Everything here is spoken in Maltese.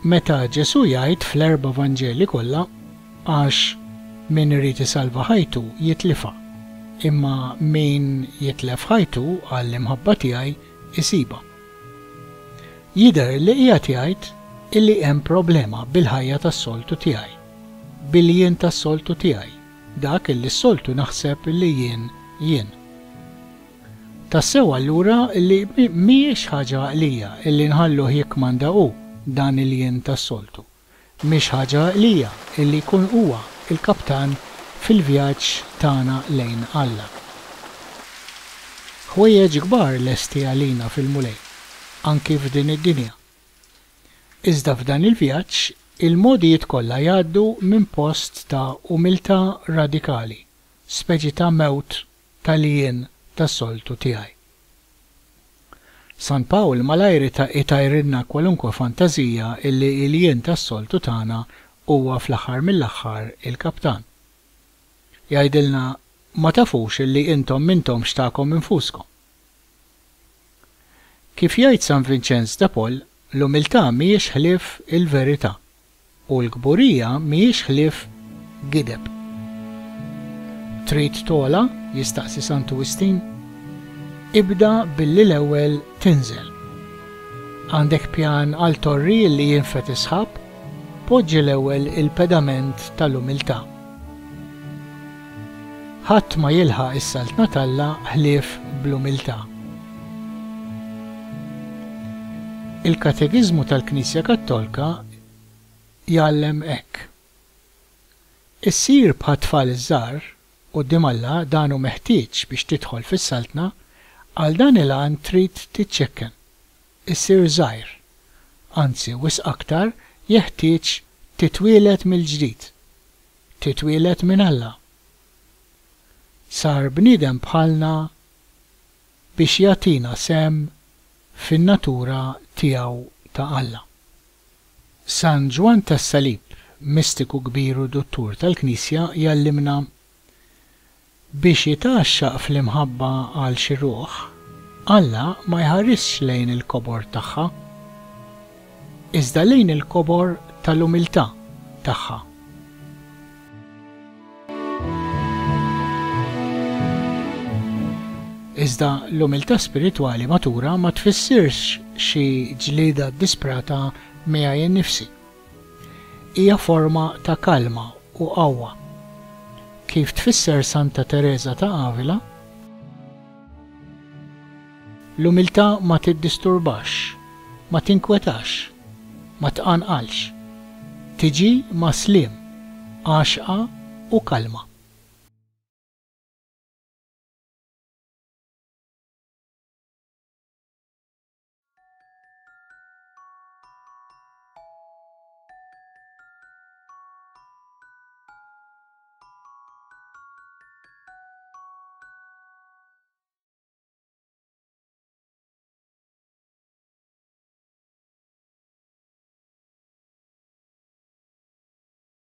Meta Ġesù jgħid fl-erba' Vanġeli kollha, Għax min irid isalva ħajtu jitlifha, imma min jitlef ħajtu għall-imħabba tiegħi isibha. Jidher li qiegħed jgħid illi hemm problema bil-ħajja tas-soltu tiegħi, bil-jien tas-soltu tiegħi, dak illi s-soltu naħseb li jien jien. Tassew allura li mhijiex ħaġa għaqlija illi nħalluh jikkmanda hu dan il-jien tas-soltu. Mhix ħaġa għaqlija illi jkun huwa l-kaptan fil-vjaġġ tagħna lejn Alla. Ħwejjeġ kbar lesti għalina fil-Mulej, anki f'din id-dinja. Iżda f'dan il-vjaġġ, il-mogħdijiet kollha jgħaddu minn post ta' umiltà radikali, speċi ta' mewt tal-jien tas-soltu tiegħi. San Pawl malajr itajrilna kwalunkwe fantażija illi l-jien tas-soltu tagħna huwa fl-aħħar mill-aħħar il-kaptan. Jgħidilna, Ma tafux illi intom m'intomx tagħkom infuskom. Kif jgħid San Vinċenz de Paul, l-umiltà mhijiex ħlief il-verità. U l-kburija mhijiex ħlief gideb. Trid togħla? jistaqsi Santu Wistin. Ibda billi l-ewwel tinżel. Għandek pjan għal torri li jinfed is-sħab? Poġġi l-ewwel il-pedament tal-umiltà. Ħadd ma jilħaq is-Saltna t'Alla ħlief bl-umiltà. Il-Katekiżmu tal-Knisja Kattolka jgħallem hekk, Issir bħat-tfal iż-żgħar, quddiem Alla dan hu meħtieġ biex tidħol fis-Saltna, għal dan il-għan trid tiċċekken, issir żgħir, anzi wisq aktar jeħtieġ titwieled mill-ġdid, titwieled minn Alla. Sar bniedem bħalna biex jagħtina sehem fin-natura tiegħu ta' Alla. San Ġwann tas-Salib, mistiku kbir u duttur tal-Knisja, jgħallimna, Biex jitgħaxxaq fl-imħabba għal xi ruħ, Alla ma jħarisx lejn il-kobor tagħha, iżda lejn il-kobor tal-umiltà tagħha. Iżda l-umiltà spiritwali matura ma tfissirx xi ġlieda ddisprata miegħi nnifsi. Hija forma ta' kalma u qawwa. Kif tfisser Santa Tereża ta' Avila, L-umiltà ma tiddisturbax, ma tinkwetax, ma tqanqalx. Tiġi ma' sliem, għaxqa u kalma.